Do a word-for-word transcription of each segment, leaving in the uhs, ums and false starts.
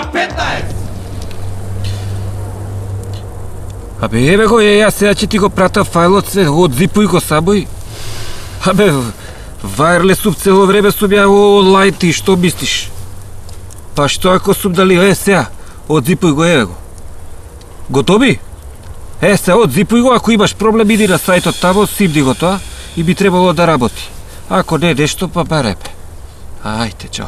К петнаесет. Абе, еве го, е, јас сега ќе ти го прата фајлот, се, одзипуј го сабој. Абе, вајрлесуп цело време сум ја онлайн, ти што мислиш? Па што ако сум дали, е, сега, одзипуј го, еве го. Готови? Е, се, одзипуј го, ако имаш проблем, иди на сајтот тамо, симни го тоа и би требало да работи. Ако не нешто, па барепе. Ајте, чао.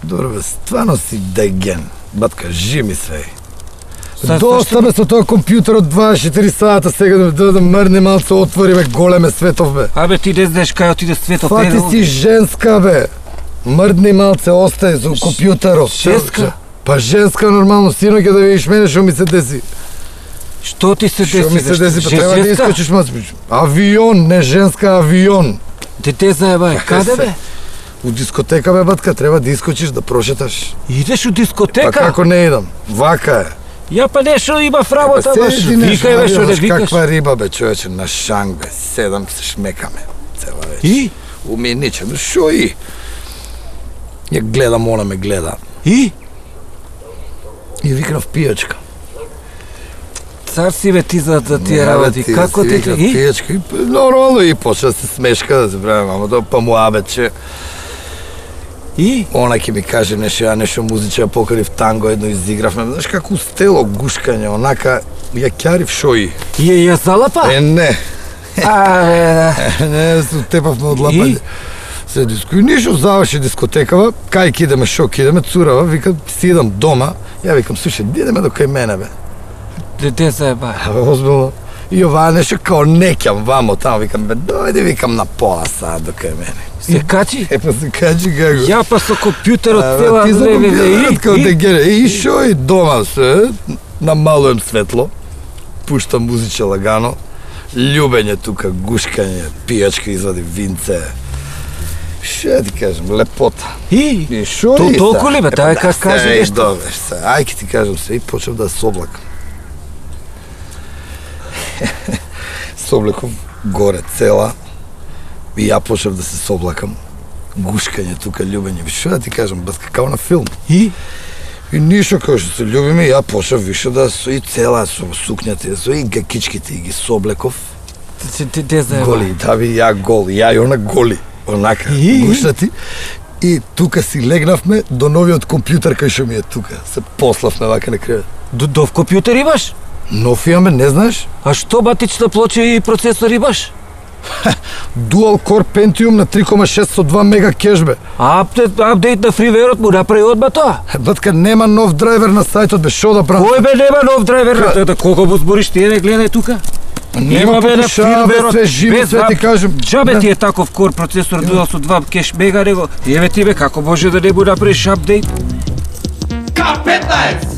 Добро бе, стварно си деген. Батка, жи ми све. Са, Доста ме со тоа компјутер од дваесет и четири сата сега да, да мрне малце отвори бе, големе Светов бе. Абе, ти не знаеш кај отиде Светов. Фати си женска бе. Мрдни малце остаje за компјутерот. Женска? Па женска нормално, синоќе да видиш мене што ми се деси. Што ти се деси? Што ми се деси, па треба да искочиш мацпиш. Авион, не женска, авион. Дете заебај, каде бе? У дискотека бе, батка, треба да искочиш да прошеташ. Идеш у дискотека? Па како не идам? Вака е. Ја па нешто имав работа, баш. Седи нешто, Викај бе, што не знаеш викаш. каква риба бе, човече, на шанг бе, седам се шмекаме, цела вечер. И? Уми ниче, но шо и? Ја гледам, она ме гледа. И? И викнав пијачка. Цар си бе ти за да тие работи. Како ти ти? И? Пијачка, и нормално и почна се смешка да се правим, ама тоа па му абече. И? Она ќе ми каже нешто, ја нешто музича, покрив танго, едно изигравме. Знаеш како стело гушкање, онака, ја кјарив шо и. И ја залапа? Е, не. А, бе, да. Не, се тепавме од лапање. Се диско, и ништо заврши дискотекава, кај ќе идеме, шо ќе идеме, цурава, вика, си идам дома, ја викам, слушай, ди идеме до кај мене, бе. Дете заебај. Абе, озбилно. И ова нешто као неќам вамо тамо, викам, бе, дојде, викам, на пола саат до кај мене. Се качи? Е, па се качи како. Ја па со компјутерот цела Ти за време. компјутерот као И? дегене. И шо и дома се, намалуjem светло, пуштам музиче лагано, љубење тука, гушкање, пијачка извади винце. Ше ти кажем, лепота. И? И шо То- и се? толку ли, бе? Е, па Дај, да, как кажи се, нешто. Добре, се. Ај ке ти кажам се, и почнав да се облакам. Се облеков горе цела, и ја почнав да се соблакам. Гушкање тука, љубење. Шо да ти кажам, батка, као на филм. И? И ништо као што се љубиме, ја почнав више да со и цела со сукњата, со и гакичките и ги соблеков. Дете заебај. Голи, да би ја гол, ја и она голи. Онака, И? гушнати. И тука си легнавме до новиот компјутер кај што ми е тука. Се пославме вака на кревет. До дов компјутер имаш? Нов имаме, не знаеш? А што батична плоча и процесор имаш? Dual Core Pentium на три кома шест со два мега кеш бе. Апдейт, апдейт на фривеерот му направи одма тоа. Батка, нема нов драйвер на сајтот бе, шо да правам? Кој бе нема нов драйвер? Ка- Да, да, колко му збориш ти, еве гледај тука. Нема бе на покушава, бе, фирмверот, све живи, без све ти ап- кажем. Джабе Да. ти е таков кор процесор дуал со два кеш мега него. Еве ти бе, како може да не му направиш апдейт? К петнаесет.